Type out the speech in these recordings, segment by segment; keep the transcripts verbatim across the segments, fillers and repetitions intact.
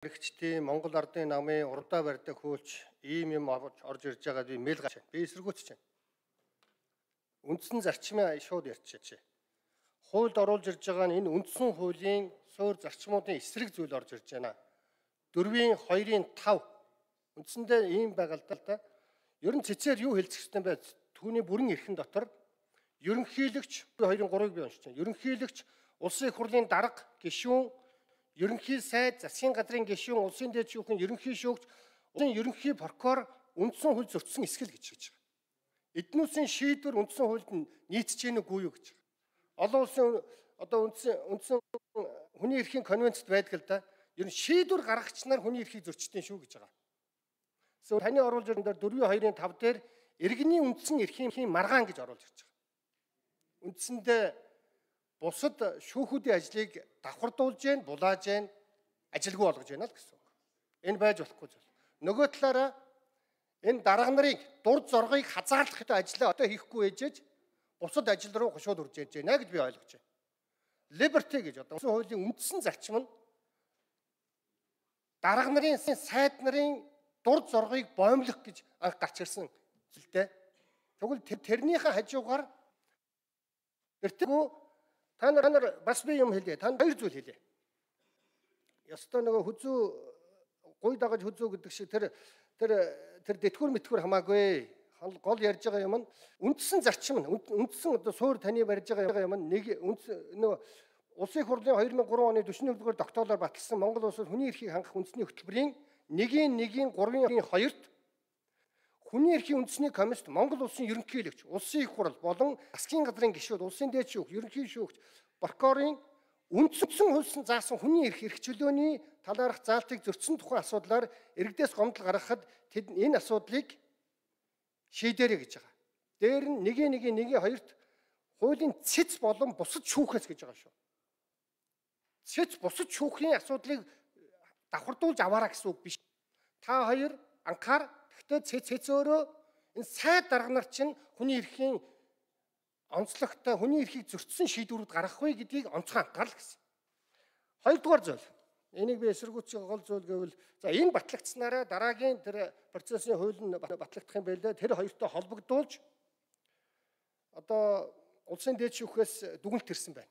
Хэрэгчдийн Монгол Ардын намын урдаа барьдаг хөөлч ийм юм орж ирж байгаад би мэйл гачаа. Би эсэргүүцэж байна. Үндсэн зарчмын шууд ярьчихжээ. Хуульд оруулж ирж байгаа нь энэ үндсэн хуулийн суур зарчмуудын эсрэг зүйл орж ирж байна. дөрвийн хоёрын тав үндсэндээ ийм байгаа л да. Ер нь цэцээр юу хэлцэх ёстой бэ? Түүний бүрэн эрхэн дотор ерөнхийлөгч хоёрын гурыг би уншиж байна. Ерөнхийлөгч, улсын их хурлын дарга, гишүүн, ерөнхий сайд, засгийн газрын гишүүн, улсын дээд шүүхийн ерөнхий шүүгч, улсын ерөнхий прокурор үндсэн хууль зөрчсөн эсгэл гэж хэлж байгаа. Эднүүсийн шийдвэр үндсэн хуульд нийцэж гэнэ үгүй юу гэж. Олон улсын одоо үндсэн үндсэн хүний эрхийн конвенцэд байдаг л да. Ер нь шийдвэр гаргагч нар хүний эрхийг зөрчдөг шүү гэж байгаа. Эсвэл таны оруулж ирсэн дээр дөрвийн хоёрын тав дээр иргэний үндсэн эрхийн маргаан гэж оруулж ирж байгаа. Үндсэндээ бусад шүүхүүдийн ажлыг давхардуулж гэн, булааж гэн, ажилгүй болгож байна л гэсэн үг. Энэ байж болохгүй зүйл. Нөгөө талаараа энэ дарга нарын дурд зоргыг хазаарлах ажлаа одоо хийхгүй ээжэж бусад ажил руу шууд үрж яаж байна гэж би ойлгож байна. Liberty гэж одоо үндсэн хуулийн үндсэн зарчим нь дарга нарын сайд нарын дурд зоргыг боомлох гэж анх гарч ирсэн зүйлтэй. Тэгвэл тэрнийхээ хажуугаар тэртгүү та нар бас би юм хэлье. Та хоёр зүйл хэлье. Ёстой нөгөө хүзүү гуй дагаж хүзүү гэдэг шиг тэр тэр тэр детгүр мэтгүр хамаагүй. Гол ярьж байгаа юм нь үндсэн зарчим нь үндсэн одоо суур таны барьж байгаа юм нь нэг нөгөө улсын их хурлын две тысячи три оны дөрвөн дугаар тогтоолоор баталсан Монгол улсад хүний эрхийг хангах үндэсний хөтөлбөрийн нэгin нэгin гурван хоёрт хүний эрхийн үндэсний комист Монгол улсын ерөнхийлөгч, улсын их хурл болон засгийн газрын гишүүд, улсын дээд шүүх, ерөнхий шүүгч, прокурорын үндсэн хуулисан заасан хүний эрх эрх чөлөөний талаарх заалтыг зөрчсөн тухай асуудлаар иргэдээс гомдол гаргахад тэд энэ асуудлыг шийдээрэй гэж байгаа. Дээр нь нэгin нэгin нэгin хоёрт хуулийн цэц болон бусад шүүхээс гэж байгаа шүү. Цэц бусад шүүхийн асуудлыг давхардуулж аваараа гэсэн үг биш. Та хоёр анхаар гэхдээ цэц цэц өөрөө энэ сайд дарга нар чинь хүний эрхийн онцлогтой хүний эрхийг зөрчсөн шийдвэрүүд гаргахгүй гэдгийг онцгой анхаарал гэсэн. Хоёрдугаар зүйл. Энийг би эсэргүүцэх гол зүйл гэвэл за энэ батлагдсанараа дараагийн тэр процессын хууль нь батлагдах юм байлаа. Тэр хоёртой холбогдуулж одоо улсын дээд шүүхээс дүгнэлт ирсэн байна.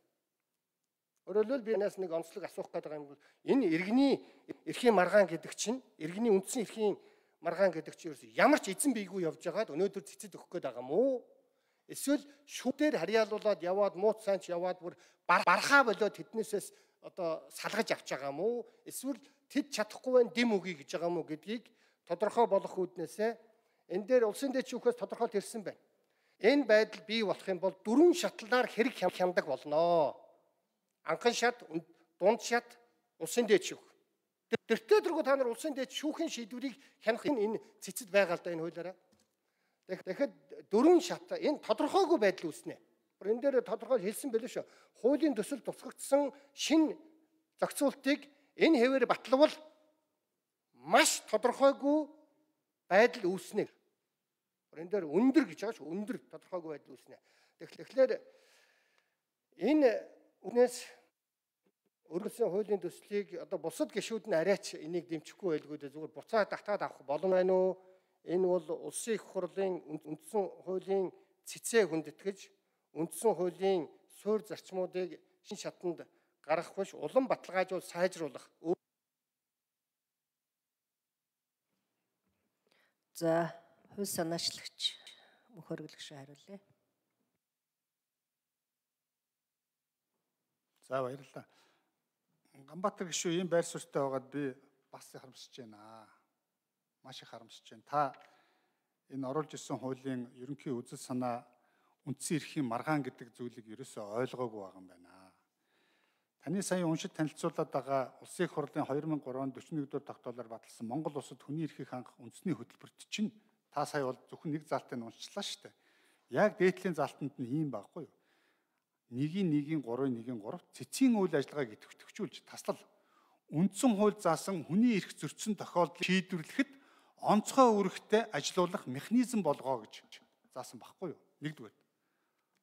Өөрөөр хэлбэл би энэс нэг онцлог асуух гэдэг юм бол энэ иргэний эрхийн маргаан гэдэг чинь иргэний үндсэн эрхийн маргаан гэдэг чинь ямар ч эзэн бийгүй явж байгаад өнөөдөр цэцэд өгөх гээд байгаа юм уу? Эсвэл шүүдээр харьяалуулаад яваад мууц цаанч яваад бүр бархаа болоод тэднээсээс одоо салгаж авч байгаа юм уу? Эсвэл тэд чадахгүй байх дэм үгүй гэж байгаа юм уу гэдгийг тодорхой болох үүднээсээ энэ дээр улсын дэд шүүхээс тодорхойлт ирсэн байна. Энэ байдал бий болох юм бол дөрвөн шатлаар хэрэг хяндаг болно. Анхан шат, дунд шат, улсын дэд шүүх. Тэртээ дөрвөө та нар улсын дэд шүүхийн шийдвэрийг хянах энэ цэцэд байгаа л да энэ хуулиараа. Тэгэхэд дөрвөн шат энэ тодорхойгүй байдал үүснэ. Энэ дээр тодорхой хэлсэн байлээ шүү. Хуулийн төсөл тусгагдсан шин зохицуултыг энэ хэвээр баталвал маш тодорхойгүй байдал үүснэ. Энэ дээр өндөр гэж байгаа шүү. Өндөр тодорхойгүй байдал үүснэ. Тэгэхээр энэ үнээс өөрөөсөө хуулийн төслийг одоо бусад гишүүд нь арайч энийг дэмжихгүй байлгүй дээ зүгээр буцаа татаад авах болон байна уу? Энэ бол улсын их хурлын үндсэн хуулийн цэцээ хүндэтгэж үндсэн хуулийн суур зарчмуудыг шин шатанд гаргах биш улам баталгаажуул сайжруулах. За, хууль санаачлагч мөнх өргөлөгч хариулъя. За баярлалаа. Ганбаатар гишүү ийм байр суурьтай байгаад би бас харамсаж байна. Маш их харамсаж байна. Та энэ оруулж ирсэн хуулийн ерөнхий үзэл санаа үндсэн эрхийн маргаан гэдэг зүйлийг ерөөсөө ойлгоогүй байгаа юм байна. Таны сая уншид танилцуулаад байгаа улсын их хурлын две тысячи три оны дөрвөн дугаар тогтоолоор баталсан Монгол улсад хүний эрхийг хангах үндэсний хөтөлбөрт чинь та сая бол зөвхөн нэг заалтыг уншчлаа шүү дээ. Яг дээдлийн заалтанд нь ийм байхгүй юу? Нэгin нэгin гурвын нэгin гурав цэцгийн үйл ажиллагааг идэвхжүүлж таслал үндсэн хууль заасан хүний эрх зөрчсөн тохиолдлыг шийдвэрлэхэд онцгой үүрэгтэй ажилуулах механизм болгоо гэж заасан баггүй юу? Нэгдүгээр.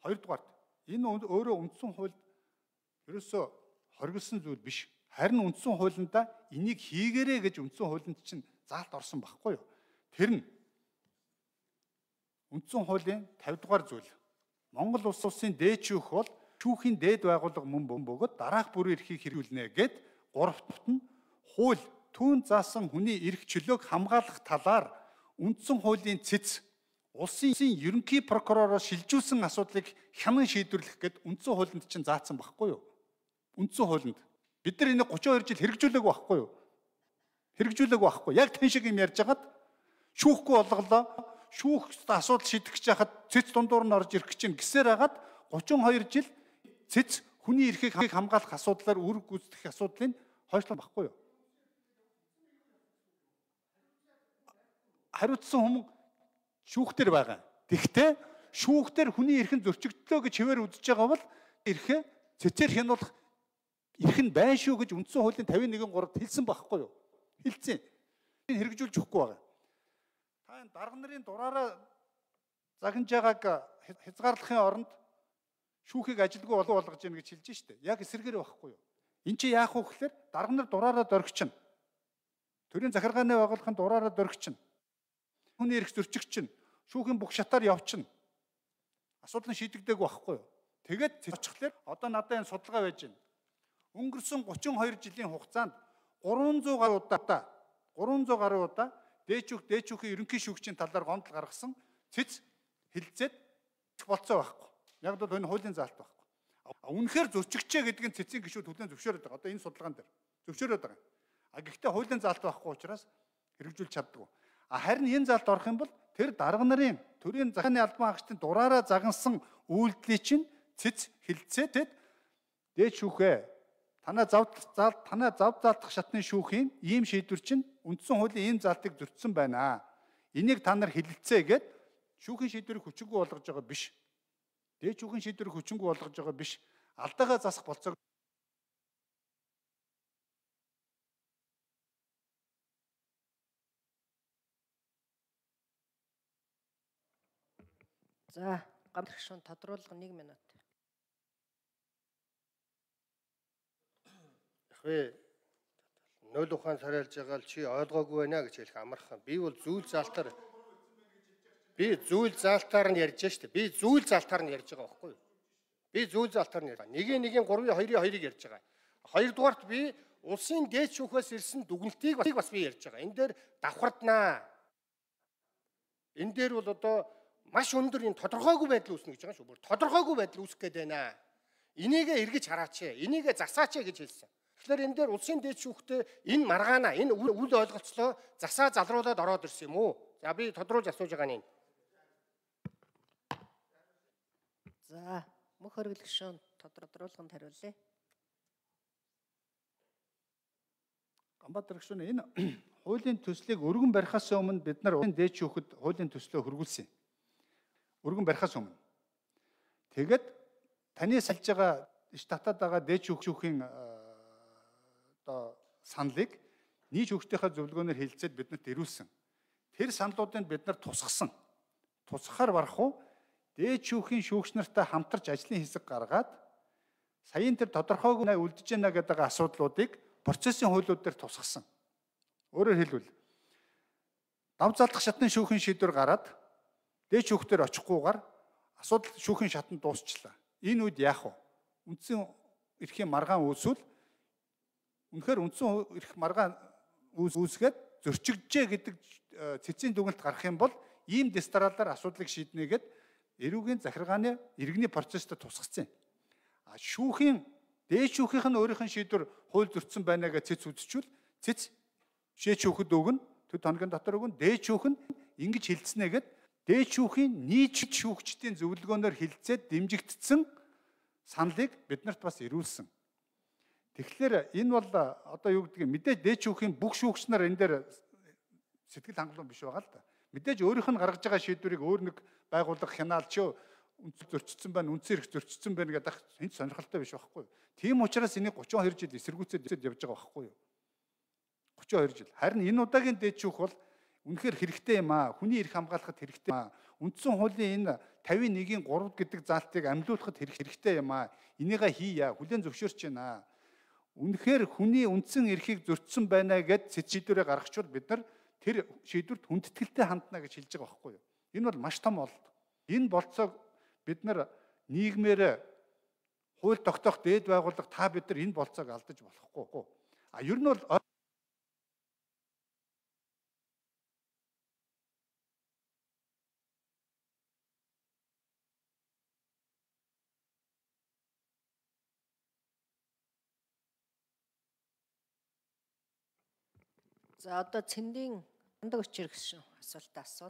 Хоёрдугаар. Энэ өөрөө үндсэн хуульд ерөөсөө хоригдсон зүйл биш. Харин үндсэн хуулиндаа энийг хийгээрэй гэж үндсэн хуулинд чинь заалт орсон байхгүй юу? Тэр нь үндсэн хуулийн тавь дугаар зүйл. Монгол улс улсын дээд шүүх бол шүүхийн дээд байгууллага мөн бөгөөд дараах бүрийн эрхийг хэрэгжүүлнэ гэд гуравт нь хууль түүн заасан хүний эрх чөлөөг хамгаалах талаар үндсэн хуулийн цэц улсын ерөнхий прокуророор шилжүүлсэн асуудлыг хянан шийдвэрлэх гэд үндсэн хуулинд чинь заасан байхгүй юу? Үндсэн хуулинд бид нар энийг гурван хоёр жил хэрэгжүүлээгүй байхгүй юу? Хэрэгжүүлээгүй байхгүй. Яг тань шиг юм ярьж хагаад шүүхгүй болголоо. Шүүхт асуудал шийдэх гэж хахад цэц дундуур нь орж ирэх чинь гэсээр хагаад гурван хоёр жил цэц хүний эрхийг хамгаалах асуудлаар үүрэг гүйцэтгэх асуудлыг хойшлоо байхгүй юу? Хариуцсан хүмүүс шүүхтэр байгаа. Тэгвэл шүүхтэр хүний эрхэн зөрчигдлөө гэж хэвээр үзэж байгаа бол эрхээ цэцээр хянуулах эрх нь байна шүү гэж үндсэн хуулийн тавин нэгэн гуравт хэлсэн байхгүй юу? Хэлсэн. Энэ хэрэгжүүлж өгөхгүй байгаа. Та энэ дарга нарын дураараа загнаж байгааг хязгаарлахын оронд шүүхийг ажилгүй болов болгож яах гэж хэлж штэ. Яг эсэргээр байхгүй юу? Энд чи яах вэ гэхээр дарга нар дураараа дөргичнэ. Төрийн захиргааны байгууллагын дураараа дөргичнэ. Хүний эрх зөрчигчнэ. Шүүхийн бүх шатаар явчихна. Асуудал нь шийдэгдээгүй байхгүй юу? Тэгээд цэцчихлээр одоо надад энэ судалгаа байж байна. Өнгөрсөн гурван хоёр жилийн хугацаанд гурван зуун гаруй удаа гурван зуун гаруй удаа дээчүүх дээчүүхийн ерөнхий шүүгчийн талаар гомдол гаргасан цэц хилцээд болцоо байхгүй. Яг л энэ хуулийн заалт байхгүй. Үнэхээр зөрчигчээ гэдэг нь цэцийн гишүүд хүлэн зөвшөөрөд байгаа. Одоо энэ судалгаан дээр зөвшөөрөд байгаа. А гэхдээ хуулийн заалт байхгүй учраас хэрэгжүүлж чаддгүй. А харин энэ заалт орох юм бол тэр дарга нарын төрийн захааны албан хаагчдын дураараа загнасан үйлдэлийг чинь цэц хилцээд дээд шүүхээ танаа зав заалт танаа зав заалтах шатны шүүхийн ийм шийдвэр чинь үндсэн хуулийн ийм заалтыг зөрчсөн байна. Энийг та нар хилэлцээ гэд шүүхийн шийдвэрийг хүчингүй болгож байгаа биш. Дээд шүүхийн шийдвэрийг хүчингүй болгож байгаа биш. Алдаагаа засах болцоог За, гамтрах шун тодруулга нэг минут. Ахвэ нөл ухаан сарайлж байгаа л чи ойлгоогүй байна гэж хэлэх амархан. Би бол зүйл заалтаар би зүйл заалтаар нь ярьж штэ. Би зүйл заалтаар нь ярьж байгаа байхгүй юу? Би зүйл заалтаар нь ярьж байгаа. Нэгийн нэгийн гурвын хоёрын хоёрыг ярьж байгаа. Хоёрдугаарт би улсын дээд шүүхээс ирсэн дүгнэлтийг бас би ярьж байгаа. Энэ дээр давхарднаа. Энэ дээр бол одоо маш өндөр энэ тодорхойгүй байдал үүснэ гэж байгаа шүү. Бүр тодорхойгүй байдал үүсэх гээд байна. Энийгээ эргэж хараач. Энийгээ засаач гэж хэлсэн. Тэгэхээр энэ дээр улсын дээд шүүхтээ энэ маргаана, энэ үл ойлголцлоо засаа залруулад ороод ирсэн юм уу? За би тодруулж асууж байгаа нь. За, мөх хөргөлөх шун тодруулганд хариулъя. Ганбаатар гүшүүн энэ хуулийн төслийг өргөн барихаас өмнө бид нар дээд шүүхэд хуулийн төслөө хөргүүлсэн. Өргөн барихаас өмнө. Тэгээд таны салж байгаа иш татаад байгаа дээд шүүхийн одоо саналыг нийт шүүгчдийнхээ зөвлөгөөнөөр хэлцээд биднэрт ирүүлсэн. Тэр саналуудыг бид нар тусгасан. Тусгахаар барах уу? Дээд шүүхийн шүүгч нартай хамтарч ажлын хэсэг гаргаад саяын тэр тодорхойгүй үлдэж байна гэдэг асуудлуудыг процессын хуулиуд дээр тусгасан. Өөрөөр хэлбэл дав заалдах шатны шүүхийн шийдвэр гараад дээд шүүхтэр очихгүйгээр асуудал шүүхийн шатанд дуусчлаа. Энэ үед яах вэ? Үндсэн эрхийн маргаан үүсвэл үнэхээр үндсэн эрх маргаан үүсгээд зөрчигджээ гэдэг цэцгийн дүгнэлт гарах юм бол ийм дистралаар асуудлыг шийднэ гэд эрүүгийн захиргааны иргэний процессд тусгацсан. А шүүхийн дээд шүүхийнх нь өөрийнх нь шийдвэр хууль зөрчсөн байна гэж цэц үзчихвэл цэц шээ шүүхэд өгнө төд хоногийн дотор өгнө дээд шүүх нь ингэж хилцнэ гэд дээд шүүхийн нийт шүүгчдийн зөвлөгөөнөөр хилцээд дэмжигдсэн саналыг биднэрт бас ирүүлсэн. Тэгэхээр энэ бол одоо юу гэдэг мэдээж дээд шүүхийн бүх шүүгч нар энэ дээр сэтгэл хангалуун биш байгаа л да. Мэдээж өөрийнх нь гаргаж байгаа шийдвэрийг өөр нэг байгууллага хянаалч юу үнц зөрчсөн байна, үнцээр их зөрчсөн байна гэдэг хинт сонирхолтой биш байхгүй юу? Тийм учраас энийг гурван хоёр жил эсэргүүцээд явж байгаа байхгүй юу? гурван хоёр жил. Харин энэ удаагийн дээд шүүх бол үнэхээр хэрэгтэй юм аа. Хүний эрх хамгаалахад хэрэгтэй юм аа. Үндсэн хуулийн энэ тавин нэгin гурав гэдэг заалтыг амьлуулахад хэрэгтэй юм аа. Энийгээ хийя. Хүлээн зөвшөөрч байна. үнэхээр хүний үндсэн эрхийг зөрчсөн байна гэд шийдвэрээ гаргачвал бид нар тэр шийдвэрт хүндэтгэлтэй хандна гэж хэлж байгаа байхгүй юу? Энэ бол маш том олд. Энэ болцоог бид нар нийгмээр хууль тогтоох дээд байгууллага та бид нар энэ болцоог алдаж болохгүй. А ер нь бол За одоо цэндийн хандаг өчир гэсэн асуултаа асуу.